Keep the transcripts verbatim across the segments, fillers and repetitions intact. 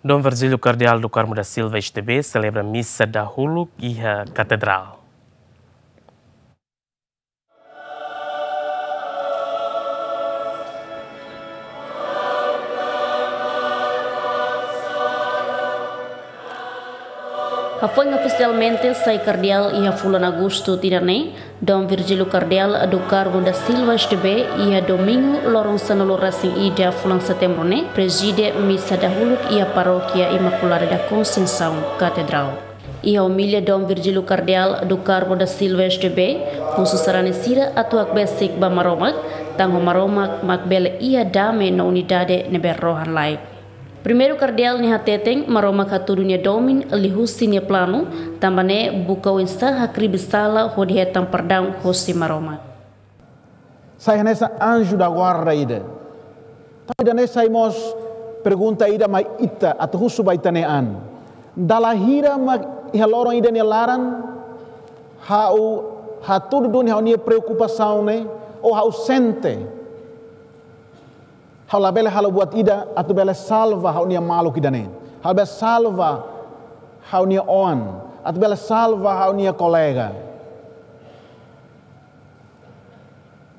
Dom Virgílio Kardeál do Carmo da Silva S D B selebra misa dahuluk iha Katedrál. Hafoin ofisialmente sai kardeál iha fulan Agostu tinan ne'e, Dom Virgílio Kardeál do Carmo da Silva S D B iha domingu loron sanulu-resin-ida fulan Setembru ne'e prezide misa dahuluk iha Parókia Imakulada da Conceição Katedrál. Iha omilia Dom Virgílio Kardeál do Carmo da Silva S D B husu sarani sira atu hakbesik ba Maromak, tanba Maromak mak bele iha dame no unidade ne'ebé rohan-laek. Primeiru kardeál ne'e hateten Maromak hatudu nia domin liuhusi nia planu, tanba ne'e buka oinsá hakribi sala hodi hetan perdaun hosi Maromak. Sai hanesan anju da guarda ida. Entaun ida-ne'e sai mós pergunta ida mai ita atu husu ba ita-nia an. Dala hira mak iha loron ida nia laran ha'u hatudu duni ha'u-nia preokupasaun ne'e, ou ha'u sente ha'u labele halo buat ida atu bele salva ha'u-nia maluk ida-ne'e. Ha'u bele salva ha'u-nia oan, atu bele salva ha'u-nia kolega.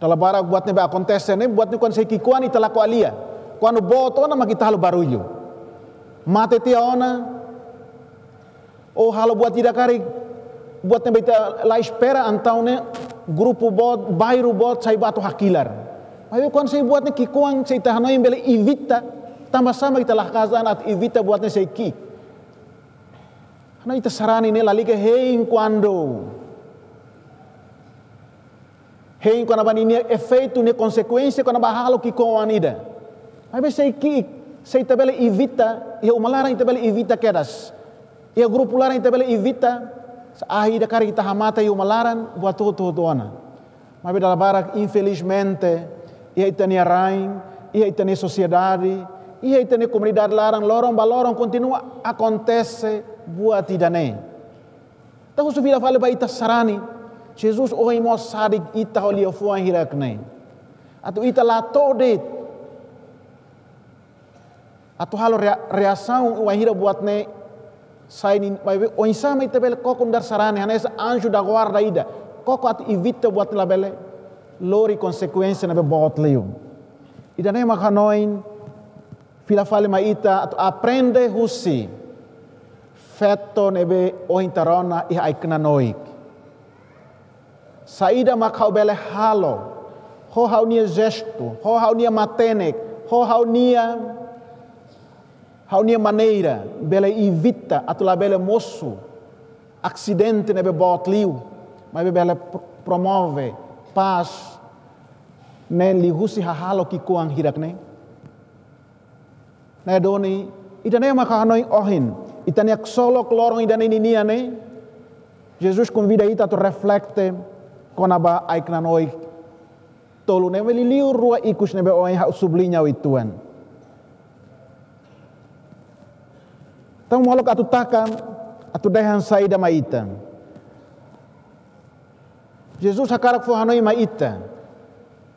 Dala barak buat ne'ebé akontese ne'e, buat ne'e kuandu sei ki'ikoan ita la ko'alia. Kuandu boot ona mak ita halo barullu. Mate tiha ona, ou halo buat ida karik, buat ne'ebé ita la espera, entaun ne'e grupu boot, bairru boot sai bá atu hakilar. Maibé kuandu sei buat ne'e ki'ikoan, sei ita hanoin bele evita, tanba sá mak ita la hakat an atu evita buat ne'e sei ki'ik? Hanoin ita sarani ne'e lalika hein kuandu hein kona-ba ninia efeitu, nia konsekuénsia kona-ba halo ki'ikoan ida. Maibé sei ki'ik, se ita bele evita, iha uma laran ita bele evita kedas. Iha grupu laran ita bele evita, se ahi ida karik ita hamate iha uma laran, buat hotu-hotu ona. Maibé dala barak, infelizmente, iha ita-nia rain, iha ita-nia sosiedade, iha ita-nia komunidade laran, loron ba loron kontinua akontese buat ida-ne'e. Entaun husu fila fali ba ita sarani, Jesus ohin mós sadik ita ho liafuan hirak-ne'e. Atu ita la to'o de'it atu halo rea-, reasaun wainhira buat ne'e sai ninia, maibé oinsá mak ita bele koko nu'udar sarani, hanesan anju da guarda ida, koko atu evita buat ne'e labele lori konsekuénsia ne'ebé boot liu. Ida-ne'e mak hanoin fila fali mai ita atu aprende husi feto ne'ebé ohin ita rona iha ai-knanoik. Saida mak ha'u bele halo, ho ha'u-nia jestu, ho ha'u-nia matenek, ho ha'u-nia, ha'u-nia maneira, bele evita atu labele mosu asidente ne'ebé boot liu, maibé bele pro-, promove pás ne'e liuhusi hahalok ki'ikoan hirak-ne'e. Ne'e duni, ida-ne'e mak ha'u hanoin ohin, ita-nia ksolok loron ida-ne'e ninian ne'e, Jesus konvida ita atu reflete kona-ba ai-knanoik tolu ne'e, liuliu rua ikus ne'ebé ohin ha'u subliña uitoan. Entaun molok atu taka, atu dehan saida mai ita. Jesus hakarak fó hanoin mai ita.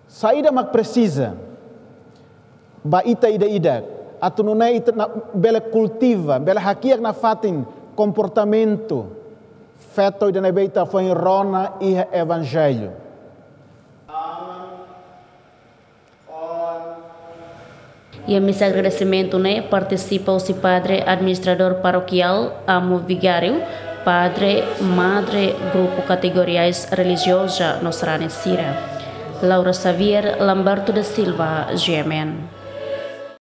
Saida mak presiza ba ita ida-idak, atu nune'e ita na-, bele kultiva, bele hakiak nafatin komportamentu feto ida ne'ebé ita foin rona iha Evanjellu. Iha misa agradesimentu ne'e partisipa husi padre administradór parokiál, amo vigáriu, padre, madre, grupu kategoriais relijioza no sarani sira. Laura Xavier, Lamberto da Silva, G M N.